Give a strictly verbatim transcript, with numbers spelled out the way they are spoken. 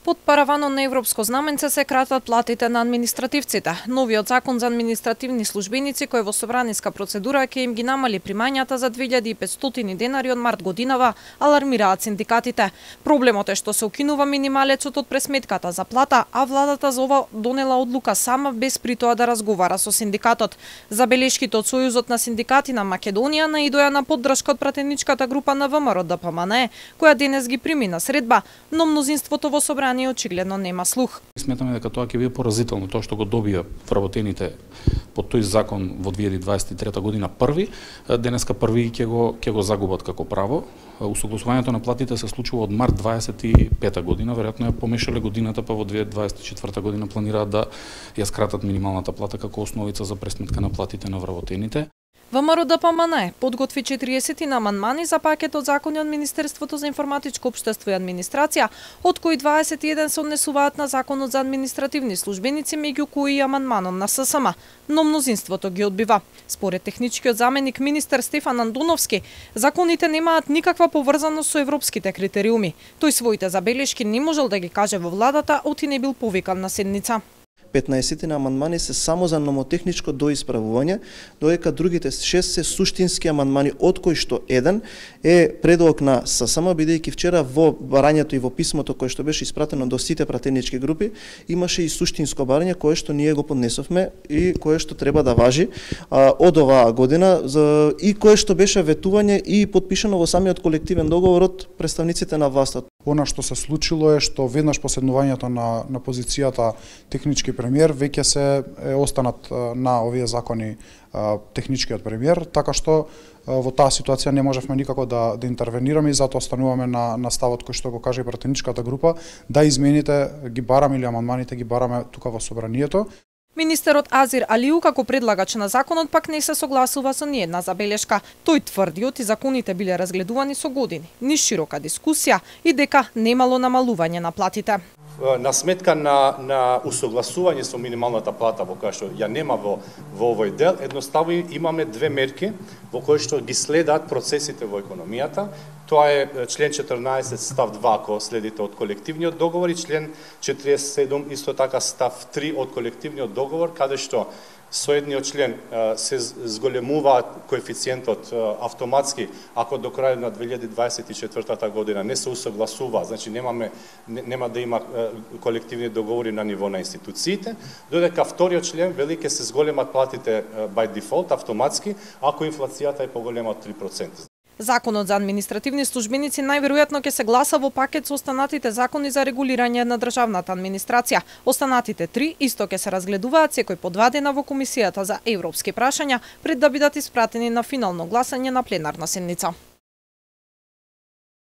Под параванот на европско знаменце се кратат платите на административците. Новиот закон за административни службеници кој во собраниска процедура ќе им ги намали примањата за две илјади и петстотини денари од март годинава, алармираат синдикатите. Проблемот е што се укинува минималецот од пресметката за плата, а владата за ова донела одлука сама без при тоа да разговара со синдикатот. Забелешките од Сојузот на синдикати на Македонија наидоа на поддршка од пратеничката група на ВМРО Д П М Н, која денес ги прими на средба, но мнозинството во собранието очигледно нема слух. Сметаме дека тоа ќе биде поразително, тоа што го добија вработените под тој закон во две илјади дваесет и трета година први, денеска први ќе го ќе го загубат како право. Усогласувањето на платите се случува од март дваесет и пета година, веројатно ја помешале годината, па во две илјади дваесет и четврта година планираат да ја скратат минималната плата како основица за пресметка на платите на вработените. ВМРО Д П М Н подготви четириесет на амандмани за пакетот закони од Министерството за информатичко општество и администрација, од кои дваесет и еден се однесуваат на законот за административни службеници, меѓу кои и амандманот на С С М, но мнозинството ги одбива. Според техничкиот заменик министер Стефан Андоновски, законите немаат никаква поврзаност со европските критериуми. Тој своите забелешки не можел да ги каже во владата, оти не бил повикан на седница. петнаесет на амандмани се само за номотехничко доисправување, додека другите шест се суштински амандмани, од кои што еден е предлог на С С М, бидејќи вчера во барањето и во писмото кое што беше испратено до сите пратенички групи, имаше и суштинско барање кое што ние го поднесовме и кое што треба да важи а, од оваа година за, и кое што беше ветување и подпишано во самиот колективен договор од представниците на властот. Она што се случило е што веднаш по седнувањето на, на позицијата технички премиер веќе се е останат на овие закони а, техничкиот премиер, така што а, во таа ситуација не можевме никако да, да интервенираме и затоа остануваме на, на ставот кој што го каже и пратеничката група, да измените ги бараме или амандманите ги бараме тука во собранието. Министерот Азир Алиу како предлагач на законот пак не се согласува со ниедна забелешка. Тој тврди оти законите биле разгледувани со години, низ широка дискусија и дека немало намалување на платите. На сметка на, на усогласување со минималната плата, во која што ја нема во, во овој дел, едноставно имаме две мерки во кои што ги следат процесите во економијата. Тоа е член четрнаесет став два, ако следите од колективниот договор, и член четириесет и седум исто така став три од колективниот договор, каде што со едниот член се зголемува коефициентот автоматски ако до крајот на две илјади дваесет и четврта година не се усогласува, значи немаме нема да има колективни договори на ниво на институциите, додека вториот член вели ќе се зголемат платите by default автоматски ако инфлацијата е поголема од три проценти. Законот за административни службеници најверојатно ќе се гласа во пакет со останатите закони за регулирање на државната администрација. Останатите три исто ќе се разгледуваат секој по два дена во Комисијата за европски прашања пред да бидат испратени на финално гласање на пленарна седница.